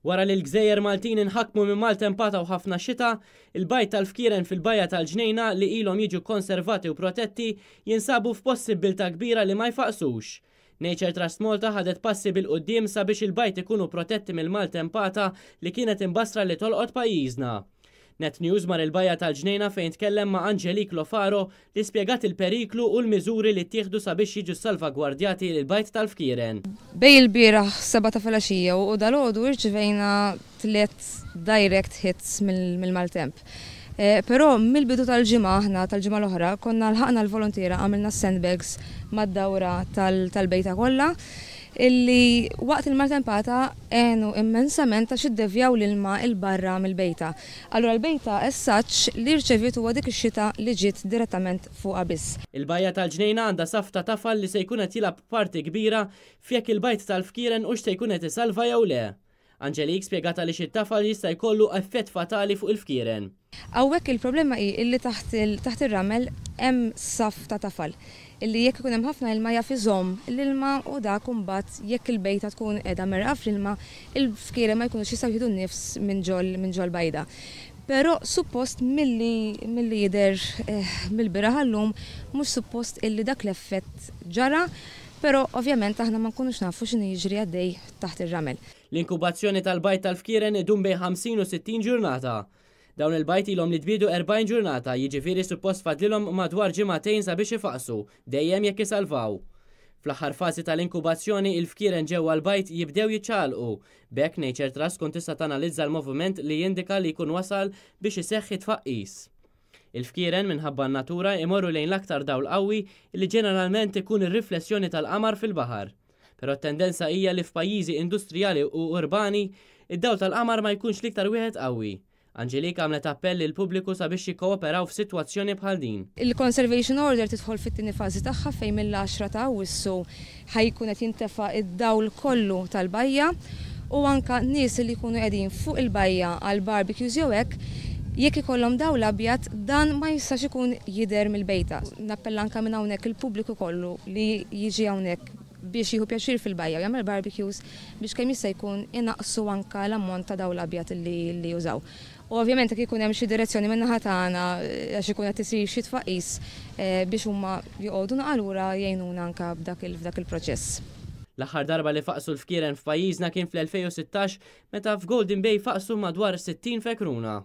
Wara li l-gżejjer Maltin inħakmu minn maltempata u ħafna xita, il-bajd tal-fkieren fil-Bajja tal-Ġnejna li ilhom jiġu kkonservati u protetti jinsabu f'possibbiltà kbira li ma jfaqqsux. Nature Trust Malta ħadet passi bil-quddiem sabiex il-bajd ikunu protetti mill-maltempata li kienet imbassra li tolqot pajjiżna. Net News mar il-Bajja tal-Ġnejna fejn tkellem ma' Angelique Lofaro li spjegat il-periklu u l-miżuri li ttieħdu sabiex jiġu ssalvagwardjati l-bajd tal-fkieren. Bejn ilbieraħ sebgħa ta' filgħaxija u dalgħodu irċivejna tliet direct hits mill-maltemp. Però mill-bidu tal-ġimgħa aħna, tal-ġimgħa l-oħra, konna lħaqna l-voluntiera għamilna s-sandbags mad-dawra tal-bejta kollha illi waqt il-maltempata għenu immensament għax iddevjaw l-ilma 'l barra mill-bejta. Allura l-bejta as such li rċeviet huwa dik ix-xita li ġiet direttament fuqha biss. Il-Bajja tal-Ġnejna għandha saff ta' tafal li se jkun qed jilgħab parti kbira f'jekk il-bajd tal-fkieren hux se jkun qed isalva jew le. Angelique spjegat għaliex it-tafal jista' jkollu effett fatali fuq il-fkieren. Hawnhekk il-problema hi illi taħt taħt ir-ramel hemm saff ta' tafal illi jekk ikun hemm ħafna ilma jaf iżomm l-ilma u dak imbagħad jekk il-bejta tkun qiegħda mgħerrqa fl-ilma il-fkieren ma jkunux jistgħu jieħdu n-nifs minn ġol minn ġol-bajda. Però suppost milli milli jidher mill-bieraħ għal-lum mhux suppost illi dak l-effett ġara però ovvjament aħna ma nkunux nafu x'inhu jiġri għaddej taħt ir-ramel. L-inkubazzjoni tal-bajd tal-fkieren idum bejn 50 u 60 ġurnata. Dawn il-bajd ilhom li tbiedu 40 ġurnata, jiġifieri suppost fadlilhom madwar ġimagħtejn sabiex ifaqqsu, dejjem jekk isalvaw. Fl-aħħar fażi tal-inkubazzjoni, il-fkieren ġewwa l-bajd jibdew jiċċaqalqu. B'hekk Nature Trust tkun tista' tanalizza l-moviment li jindika li jkun wasal biex iseħħ it-tfaqqis. Il-fkieren, minħabba n-natura, imorru lejn l-aktar dawl qawwi li ġeneralment ikun ir-riflessjoni tal-qamar fil-baħar. Però t-tendenza hija li f'pajjiżi industrijali u urbani, id-dawl tal-qamar ma jkunx l-iktar wieħed qawwi. Angelique għamlet appell lill-pubbliku sabiex jikkooperaw f'sitwazzjoni bħal din. Il-Conservation Order tidħol fit-tieni fażi tagħha fejn mill-għaxra ta' Awwissu ħa jkun qed jintefa' d-dawl kollu tal-bajja u anke nies li jkunu qegħdin fuq il-bajja għal barbecues jew hekk, jekk ikollhom dawl abjad dan ma jistax ikun jidher mill-bejta. Nappella anke minn hawnhekk il-pubbliku kollu li jiġi hawnhekk biex jieħu pjaċir fil-bajja u jagħmel barbecues biex kemm jista' jkun inaqqsu anke l-ammont ta' dawl abjad li jużaw. U ovvjament jekk ikun hemm xi direzzjoni min-naħa tagħna għax ikun qed isir xi tfaqqis biex huma joqogħdu naqa' lura jgħinuna anke f'dak il-proċess. L-aħħar darba li faqqsu l-fkieren f'pajjiżna kien fl-2016 meta f'Golden Bay faqqsu madwar 60 fekruna.